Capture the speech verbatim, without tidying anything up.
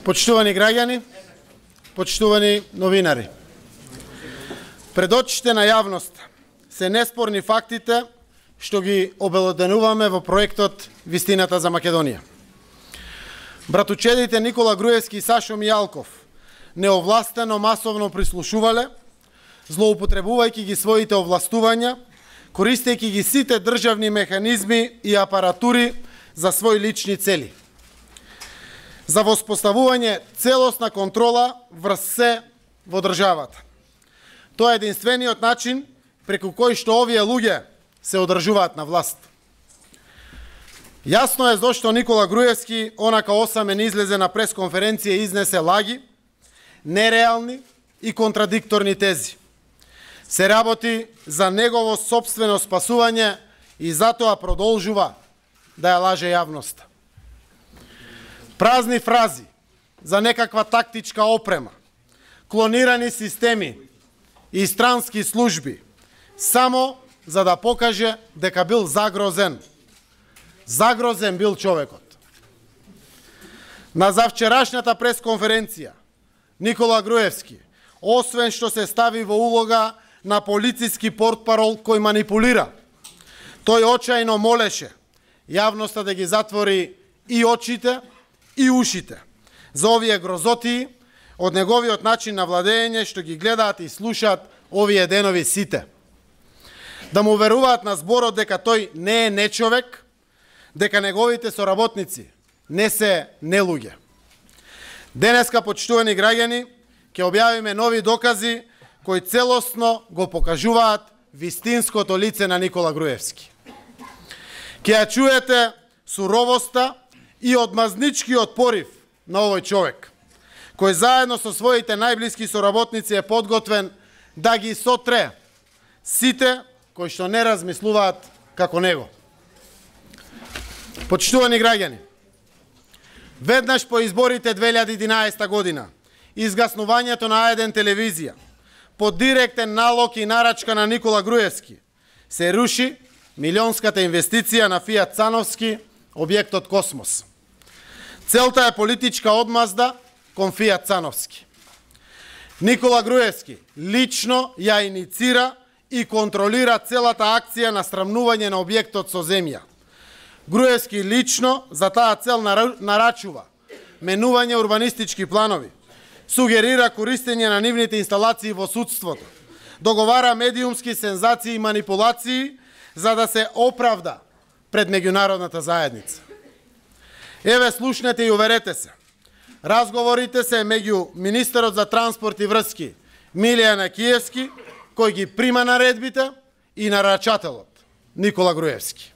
Почитувани граѓани, почитувани новинари, пред очите на јавност се неспорни фактите што ги обелоденуваме во проектот Вистината за Македонија. Братучедите Никола Груевски и Сашо Мијалков неовластено масовно прислушувале, злоупотребувајќи ги своите овластувања, користејќи ги сите државни механизми и апаратури за своји лични цели, за воспоставување целосна контрола врз се во државата. Тоа е единствениот начин преку кој што овие луѓе се одржуваат на власт. Јасно е зошто Никола Груевски онака осамен излезе на пресконференција и изнесе лаги, нереални и контрадикторни тези. Се работи за негово сопствено спасување и затоа продолжува да ја лаже јавноста. Празни фрази за некаква тактичка опрема, клонирани системи и странски служби, само за да покаже дека бил загрозен. Загрозен бил човекот. На завчерашната пресконференција Никола Груевски, освен што се стави во улога на полициски портпарол кој манипулира, тој очајно молеше јавноста да ги затвори и очите и ушите за овие грозотии од неговиот начин на владење што ги гледаат и слушаат овие денови сите. Да му веруваат на зборот дека тој не е нечовек, дека неговите соработници не се нелуѓе. Денеска, почитувани граѓани, ќе објавиме нови докази кои целосно го покажуваат вистинското лице на Никола Груевски. Ќе ја чуете суровоста и одмазничкиот порив на овој човек, кој заедно со своите најблиски соработници е подготвен да ги сотре сите кои што не размислуваат како него. Почитувани граѓани, веднаш по изборите две илјади и единаесета година, изгаснувањето на А еден телевизија, по директен налог и нарачка на Никола Груевски, се руши милионската инвестиција на Фијат Цановски, објектот Космос. Целта е политичка одмазда кон Фијат Цановски. Никола Груевски лично ја иницира и контролира целата акција на срамнување на објектот со земја. Груевски лично за таа цел нарачува менување урбанистички планови, сугерира користење на нивните инсталации во судството, договара медиумски сензации и манипулации за да се оправда пред меѓународната заедница. Еве, слушнете и уверете се. Разговорите се меѓу министерот за транспорт и врски Милијан Акиевски, кој ги прима наредбите, и нарачателот Никола Груевски.